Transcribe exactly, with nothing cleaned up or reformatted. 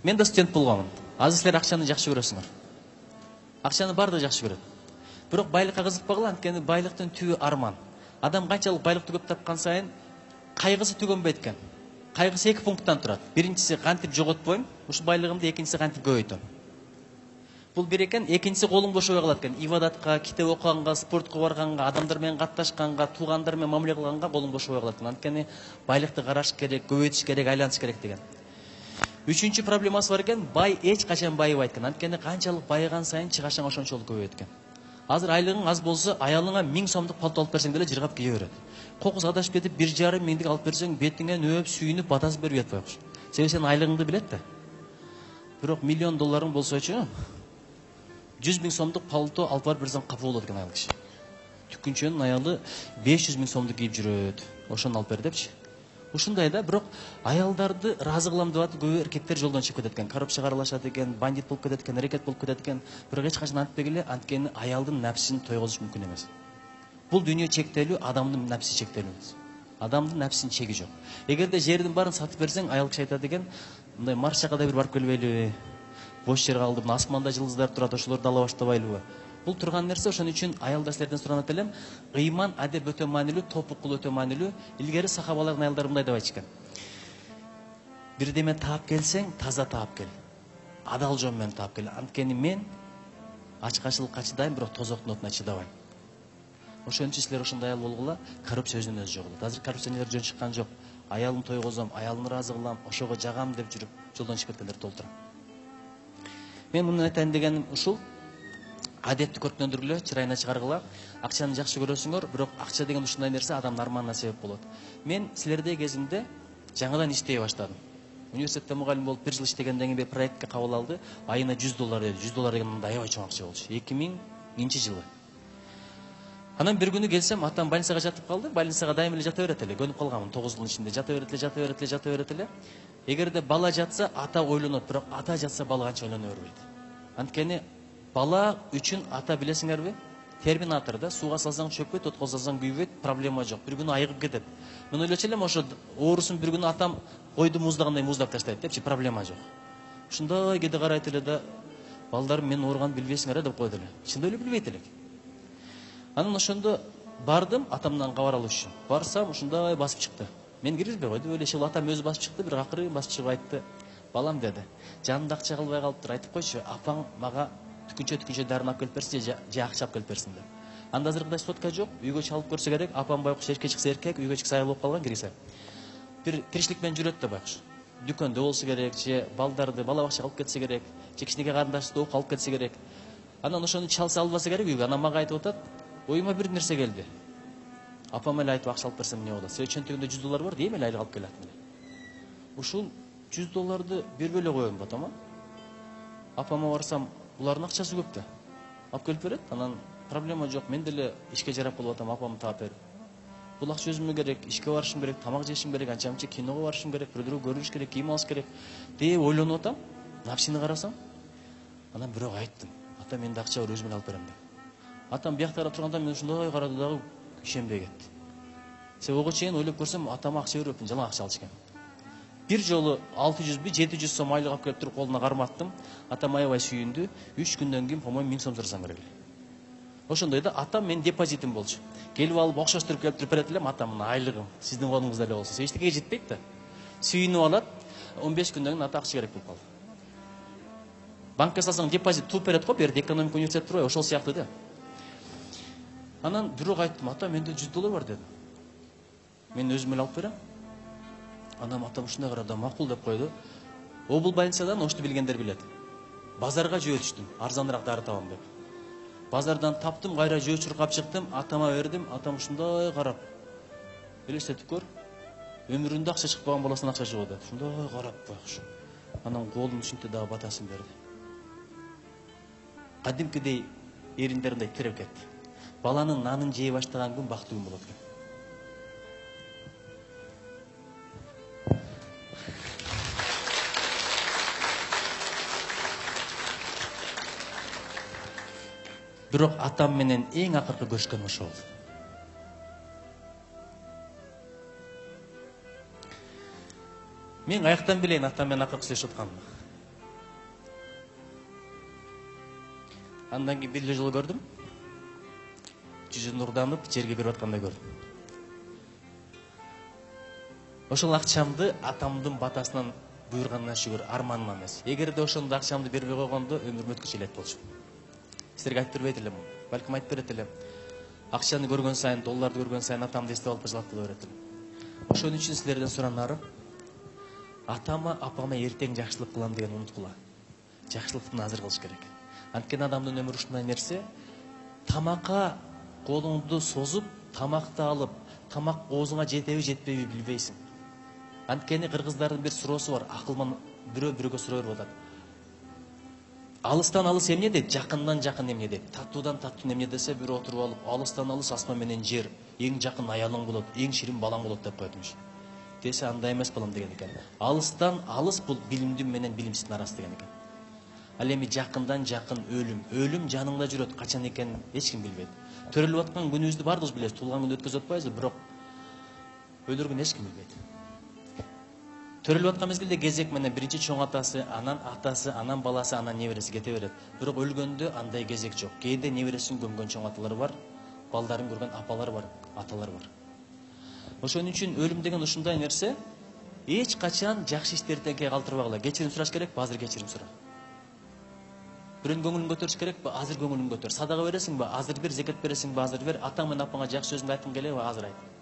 Мен да студент болгонмун. Азыр силер акчаны жакшы көрөсүңөр. Акчаны баардыгы жакшы көрөт. Бирок байлыкка кызыкпагыла, анткени байлыктын түбү арман. Адам канчалык байлыкты көп тапкан сайын кайгысы түгөнбөйт экен. Кайгысы эки пункттан турат. Биринчиси кантип жоготпойм, ушул байлыгымды, экинчиси кантип көбөйтөм. Бул бир экен, экинчиси колуң бошобой калат экен. Ибадатка, китеп окуганга, спортко барганга, адамдар менен катташканга, туугандар менен мамиле кылганга колуң бошобой калат экен. Анткени байлыкты караш керек, көбөйтүш керек, айлантыш керек деген. Үчүнчү проблемасы бар экен, бай эч качан байыбайт экен. Анткени канчалык байыган сайын чыгашың ошончолук көбөйөт экен. Азыр айлыгың аз болсо, аялыңа миң сомдук пальто алып берсең деле жыргап кие берет. Кокус адашып кетип бир жарым миңдик алып берсең, бетиңе нөөп, сүйүнүп, батасып берип жатпай кош. Себеби сен айлыгыңды билет да. Бирок миллион долларың болсочу, жүз миң сомдук пальто алып барып берсең капа болот экен аял киши. Түкүнчөнүн аялы беш жүз миң сомду кийип жүрөт. Ошону алып бер депчи. Ушундай да, бирок аялдарды ыраазы кылам деп атып көбү эркектер жолдон чыгып кетет экен. Коррупцияга аралашат экен, бандит болуп кетет экен, рекет болуп кетет экен. Бирок эч качан антпегиле, анткени аялдын напсин тойгозуш мүмкүн эмес. Бул дүйнө чектелүү, адамдын напси чектелүү эмес. Адамдын напсинин чеги жок. Эгерде жердин баарын сатып берсең, аял киши айтат экен, мындай Марсчага да бир барып келбейлиби? Бош жер калды, мына асманда жылдыздар турат, ошолорду ала баштабайлыбы? Бул турган нерсе, ошон үчүн аялдар силерден суранат элем, ыйман адеп өтө маанилүү, топук кыл өтө маанилүү. Илгери сахабалардын аялдары мындай деп айтышкан. Бирдеме таап келсең, таза таап кел. Адал жол менен таап кел. Анткени мен ачкачылыкка чыдайм, бирок тозоктун отуна чыдабайм. Ошон үчүн силер ошондой аял болгула, коррупция өзүнөн өзү жок болот. Азыр коррупционерлер жөн чыккан жок. Аялымды тойгозом, аялымды ыраазы кылам, ошого жагам деп жүрүп, жолдон чыгып кеткендер толтура. Мен муну айтайын дегеним ушул. Адепти көркүндөндүргүлө, чырайына чыгаргыла. Акчаны жакшы көрөсүңөр, бирок акча деген ушундай нерсе адамдын арманына себеп болот. Мен силердей кезимде жаңадан иштей баштадым. Университетте мугалим болуп бир жыл иштегенден кийин бир проектке кабыл алды. Айына жүз доллар деди. жүз доллар деген мындай аябай чоң акча болчу. эки миңинчи жылы. Анан бир күнү келсем, атам больницага жатып калды. Больницага дайым эле жата берет эле. Көнүп калганмын тогуз жылдын ичинде. Жата берет эле, жата берет эле, жата берет эле. Эгерде бала жатса, ата ойлонот, бирок ата жатса бала канча ойлоно бербейт. Анткени бала үчүн ата билесиңерби? Терминатор да, сууга салсаң чөкпөйт, отко салсаң күйбөйт, проблема жок. Бир күнү айыгып кетет. Мен ойлочу элем, ошо оорусун бир күнү атам койду муздагандай муздап таштайт депчи, проблема жок. Ушундай кеде карайт эле да, балдарым мен ооруганды билбейсиңер деп койду эле. Чындап эле билбейт элек. Анан ошондо бардым атамдан кабар алыш үчүн. Барсам ушундай басып чыкты. Мен киргизбей койдум, эле иши атам өзү басып чыкты, бир акырын басып чыгып айтты. Балам деди, жанымда акча калбай калыптыр, айтып койчу, апаң мага түкүнчө-түкүнчө дарын алып келип берсин же же акча алып келип берсин деп. Анда азыркыдай сотка жок, үйгө чалып көрсө керек, апам байкуш эрке чыкса эркек, үйгө чыкса аял болуп калган киргизе. Бир тиричилик менен жүрөт да байкуш. Дүкөндө болсо керек, же балдарды бала бакчага алып кетсе керек, же кичинекей карындашты окуп алып кетсе керек. Анан ошону чалса албаса керек үйгө. Анан мага айтып атат, оюма бир нерсе келди. Апам эле айтып акча алып берсем эмне болот? Себеби чөнтөгүндө жүз доллар бар, дейм эле айлык алып келатым эле. Ушул жүз долларды бербей эле коем атама. Апама барсам, булардын акчасы көп да. Алып келип берет, анан проблема жок. Мен деле ишке жарап болуп атам, апамды таап берип. Бул акча өзүмө керек, ишке барышым керек, тамак жешим керек, анча-мынча киного барышым керек, бирөөлөргө көрүнүш керек, кийим алыш керек деп ойлонуп атам. Напсини карасам, анан бирөө айттым. Ата, менде акча бар, өзүм эле алып берем деп. Атам биякта карап турганда мен ушундай карады дагы ишенбей кетти. Себеби ого чейин ойлоп көрсөм, атама акча бербепмин, жалаң акча алышкан. Бир жолу алты жүзбү, жети жүз сом айлык алып келип туруп колуна карматтым. Атам аябай сүйүндү. үч күндөн кийин, по-моему, миң сом сурасаң керек эле. Ошондой да, атам менин депозитим болчу. Келип алып окшоштуруп келип туруп берет элем, атам мына айлыгым сиздин колуңузда эле болсун. Эчтекеге жетпейт да. Сүйүнүп алат. он беш күндөн кийин ата акча керек болуп калды. Банкка салсаң депозит туп берет го, берди экономика университети турбайбы, ошол сыяктуу да. Анан бирок айттым, ата, менде жүз доллар бар дедим. Мен өзүм эле алып берем. Анан атам ушундай карады, макул деп койду. О, бул больницадан ошту билгендер билет. Базарга жөө түштүм, арзаныраак дары табам деп. Базардан таптым, кайра жөө чуркап чыктым, атама бердим. Атам ушундай карап, элестетип көр, өмүрүндө акча чыкпаган баласынан акча чыгып атат. Ушундай карап байкуш. Анан колун ушинтип дагы батасын берди. Кадимкидей эриндериндей тиреп кетти. Баланын нанын жей баштаган күн бактуу күн болот экен. Бирок атам менен эң акыркы көрүшкөн ошол болду. Мен аяктан билейин атам менен акыркы сүйлөшүп атканымды. Андан кийин бир эле жолу көрдүм. Жүзү нурданып, жерге кирип аткандай көрдүм. Ошол акчамды атамдын батасынан буйруганына шүгүр, арманыма эмес. Эгерде ошондо акчамды бербей койгондо өмүрүм өткүчө элек болчу. Силерге айтып бербейт элем. Балким айтып берет элем. Акчаны көргөн сайын, долларды көргөн сайын атамды эстеп алып жылап кала берет элем. Ошон үчүн силерден суранарым, атама, апама эртең жакшылык кылам деген унуткула. Жакшылыктын азыр кылыш керек. Анткени адамдын өмүрү ушундай нерсе, тамакка колуңду созуп, тамакты алып, тамак оозуңа жетеби, жетпеби билбейсиң. Анткени кыргыздардын бир суроосу бар, акылман бирөө бирөөгө суроо берип атат. Алыстан алыс эмне дейт, жакындан жакын эмне дейт. Таттуудан таттуу эмне десе, бирөө отуруп алып, алыстан алыс асман менен жер, эң жакын аялың болот, эң ширин балаң болот деп коетмуш. Десе андай эмес балам деген экен. Алыстан алыс бул билимдүү менен билимсиздин арасы деген экен. Ал эми жакындан жакын өлүм, өлүм жаныңда жүрөт, качан экенин эч ким билбейт. Төрөлүп аткан күнүбүздү бардыгыбыз билебиз, туулган күндү өткөзүп атпайбызбы, бирок өлүргүн эч ким билбейт. Төрөлүп аткан мезгилде кезек менен биринчи чоң атасы, анан атасы, анан баласы, анан небереси кете берет. Бирок өлгөндө андай кезек жок. Кээде небересин көмгөн чоң аталар бар, балдарын көргөн апалар бар, аталар бар. Ошон үчүн өлүм деген ушундай нерсе, эч качан жакшы иштерди эртеңке калтырбагыла. Кечирим сураш керекпи? Азыр кечирим сура. Бирөөнүн көңүлүн көтөрүш керекпи? Азыр көңүлүн көтөр. Садага бересиңби? Азыр бер. Зекет бересиңби? Азыр бер. Атаң менен апаңа жакшы сөзүңдү айткың келеби? Азыр айт.